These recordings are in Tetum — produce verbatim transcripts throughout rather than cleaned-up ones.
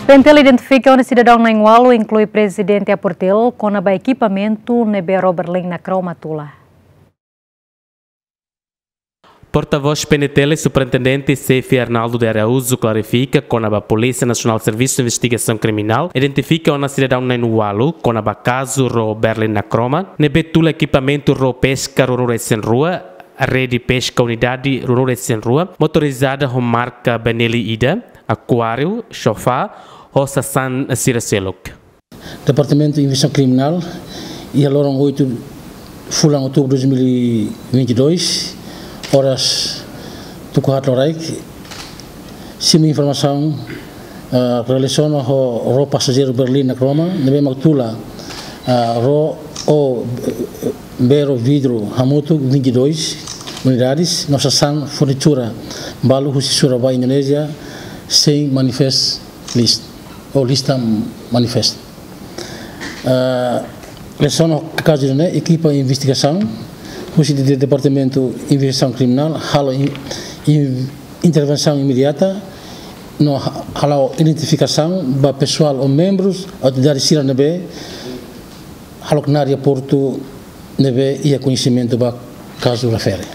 PNTL identifika ona sidadaun na'in-ualu, inklui prezidente APORTIL, kona-ba ekipamentu ne'ebé ró Berlin Nakroma tula. Portavós PNTL, Superintendente Xefe Arnaldo de Araújo klarifika kona-ba Polísia Nasionál Servisu Investigasaun Kriminál identifika ona sidadaun na'in-ualu kona-ba kazu ró Berlin Nakroma, ne'ebé tula ekipamentu ró peska ruanulu-resin-rua, rede peska unidade ruanulu-resin-rua, motorizada ho marka Benelli ida, akuáriu, sofá, ho sasán sira seluk. Departamentu Investigasaun Kriminál, iha loron oitu fulan Outubru dois mil e vinte e dois, oras tuku haat loraik, simu informasaun, ah, relasiona ho ró pasajeiru Berlin Nakroma, ne'ebé mak tula, ah, ró ou, eh, bee ró vidru hamutuk vinte e dois unidades, no sasán furnitura balu husi Surabaya, Indonézia, sein manifest list, ou lista manifest. Ah, relasiona ho kazu ne'e, ekipa investigasaun husi de, de Departamentu Investigasaun Kriminál halo in, in, intervensaun imediata, no ha, halo identifikasaun ba pesoál ou membrus autoridade sira ne'ebé halo knaar iha portu ne'ebé iha koñesimentu ba kazu refere.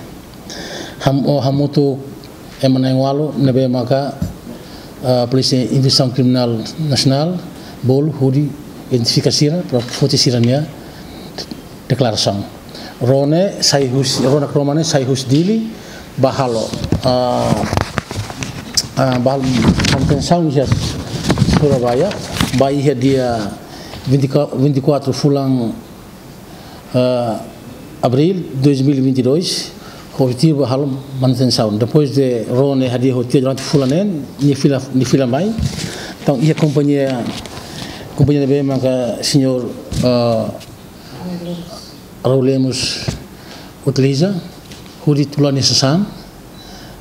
Ham, o hamutuk ema na'in-ualu ne'ebé maka, ah, Polísia Investigasaun Kriminál Nasionál bolu hodi identifika sira para foti sira-nia deklarasaun. Ró ne'e sai husi, ró Nakroma ne'e sai husi Dili ba halo, ah, ah, ba halo manutensaun iha Surabaya, ba iha dia vinte e quatro, vinte e quatro fulan, ah, Abril dois mil e vinte e dois, ho objetivu ba halo manutensaun. Depois de ró ne'e hadi'a ho tiha durante fulan neen, nia fila, nia fila mai. Entaun, iha kompañia, kompañia ne'ebé maka señór, ah, Raul Lemos utiliza, hodi tula nia sasán,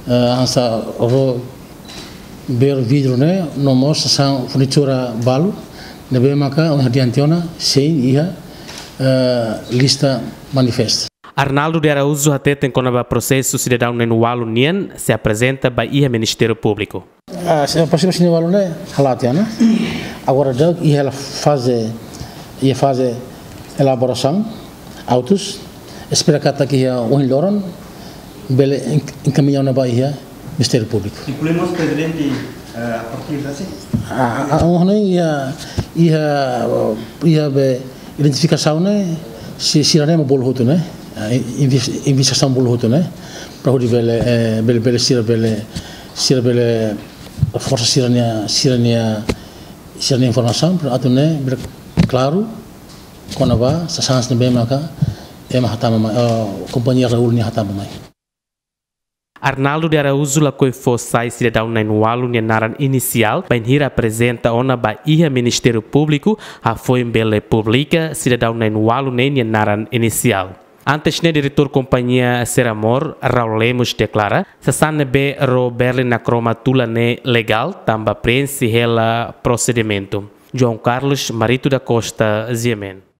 eh, hanesan ró, bee ró vidru ne'e, no mós sasán furnitura balu, ne'ebé maka ohin hadi'a tiha ona, sein iha, eh, lista manifest. Arnaldo de Araújo hateten kona-ba prosesu sidadaun na'in-ualu nian sei aprezenta ba iha Ministériu Públiku. Ah, se, prosesu sidadaun na'in-ualu ne'e hala'o tiha ona. Agora daudaun iha faze, iha faze elaborasaun, autus, espera katak iha ohin loron bele en, enkamiña ona ba iha Ministériu Públiku. Inklui mós prezidente, eh, APORTIL, sin? Ah, ah, oh, ne'e iha, iha, iha be identifikasaun ne'e, si, sira-ne'e mak bolu hotu ne'e. Ah, inves, investigasaun bolu hotu ne'e. Para hodi bele, eh, bele, bele sira bele, sira bele forsa sira-nia, sira-nia, sira-nia informasaun, para atu ne'e bele klaru kona-ba sasán ne'ebé maka ema hatama mai, eh, kompañia Raul nian hatama mai. Arnaldo de Araújo lakohi fó sai sidadaun na'in-ualu nia naran inisiál, bainhira aprezenta ona ba iha Ministériu Públiku, hafoin bele publika sidadaun na'in-ualu ne'e nia naran inisiál. Antes ne'e, diretór kompañia Seramor, Raul Lemos, deklara, sasán ne'ebé ró Berlin Nakroma tula ne'e legál, tanba preenxe hela prosedimentu. João Carlos Marito da Costa, G M N.